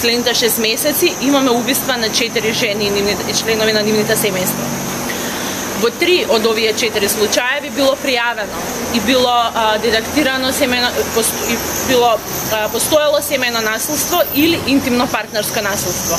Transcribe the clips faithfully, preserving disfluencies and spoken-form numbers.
последните шест месеци имаме убиства на четири жени и членови на нивните семејства. Во три од овие четири случаеви било пријавено и било а, детектирано семејно, и било а, постоело семејно насилство или интимно партнерско насилство.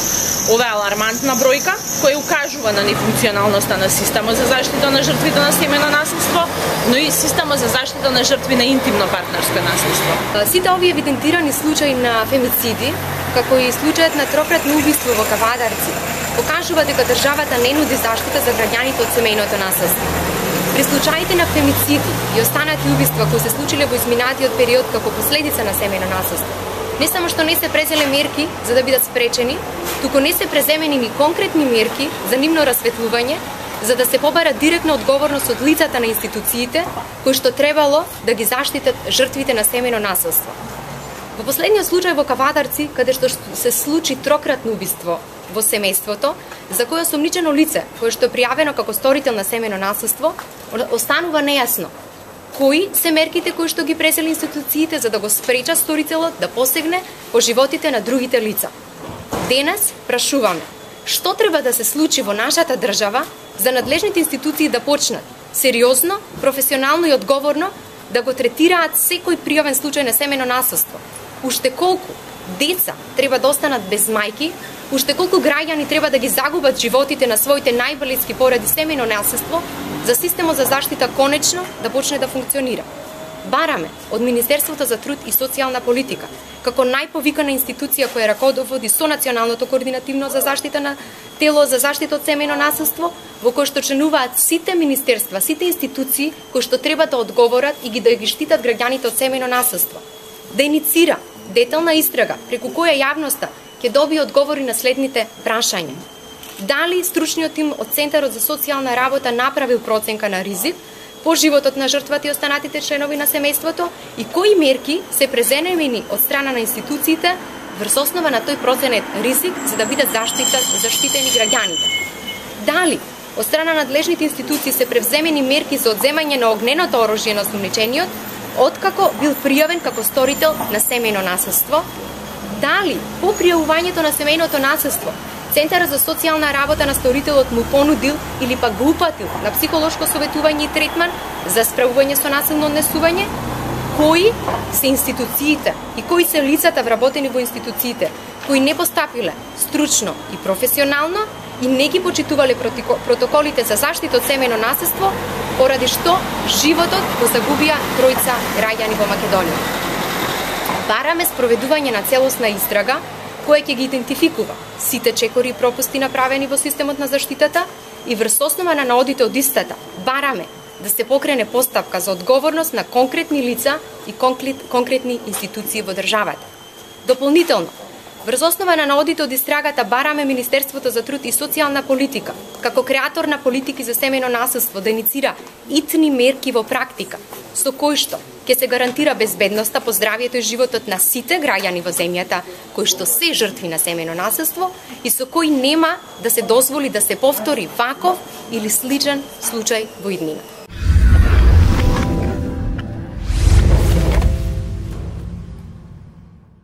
Ова е алармантна бројка која укажува на нефункционалноста на системот за заштита на жртвите на семејно насилство, но и системот за заштита на жртви на интимно партнерско насилство. Сите овие евидентирани случаи на фемициди, како и случајот на трократно убиство во Кавадарци, покажува дека државата не нуди заштита за граѓаните од семејното насилство. При случаите на фемициди и останати убиства кои се случиле во изминатиот период како последица на семејно насилство, не само што не се презеле мерки за да бидат спречени, туку не се преземени ни конкретни мерки за нивно расветлување, за да се побара директна одговорност од лицата на институциите кои што требало да ги заштитат жртвите на семејно насилство. Во последниот случај во Кавадарци, каде што се случи трократно убиство во семејството, за кое осомничено лице, кое што е пријавено како сторител на семејно насилство, останува нејасно кои се мерките кои што ги презели институциите за да го спречат сторителот да посегне по животите на другите лица. Денес прашуваме, што треба да се случи во нашата држава за надлежните институции да почнат сериозно, професионално и одговорно да го третираат секој пријавен случај на семејно насилство. Уште колку деца треба да останат без мајки, уште колку граѓани треба да ги загубат животите на своите најблиски поради семејно насилство, за системот за заштита конечно да почне да функционира. Бараме од Министерството за труд и социјална политика, како најповикана институција која раководи со Националното координативно за заштита на тело за заштита од семејно насилство, во кој што членуваат сите министерства, сите институции кои што треба да одговорат и ги да ги штитат граѓаните од семејно насилство. Да иницира детална истрага преку која јавноста ќе добие одговори на следните прашања. Дали стручниот тим од Центарот за социјална работа направил проценка на ризик по животот на жртвата и останатите членови на семејството и кои мерки се преземени од страна на институциите врз основа на тој проценет ризик за да бидат заштитени граѓаните. Дали од страна на надлежните институции се превземени мерки за одземање на огненото оружје на осумничениот, откако бил пријавен како сторител на семејно насилство? Дали по пријавувањето на семејното насилство Центарот за социјална работа на сторителот му понудил или пак го упатил на психолошко советување и третман за справување со насилно однесување? Кои се институциите и кои се лицата вработени во институциите кои не постапиле стручно и професионално и не ги почитувале протоколите за заштита од семејно насилство, поради што животот го загубија тројца граѓани во Македонија? Бараме спроведување на целосна истрага која ќе ги идентификува сите чекори и пропусти направени во системот на заштитата и врз основа на наодите од истата бараме да се покрене постапка за одговорност на конкретни лица и конкретни институции во државата. Дополнително, врз основа на наодите од истрагата бараме Министерството за труд и социјална политика, како креатор на политики за семејно насилство, да иницира итни мерки во практика, со кои што ќе се гарантира безбедноста по здравието и животот на сите граѓани во земјата кои што се жртви на семејно насилство и со кои нема да се дозволи да се повтори ваков или сличен случај во иднина.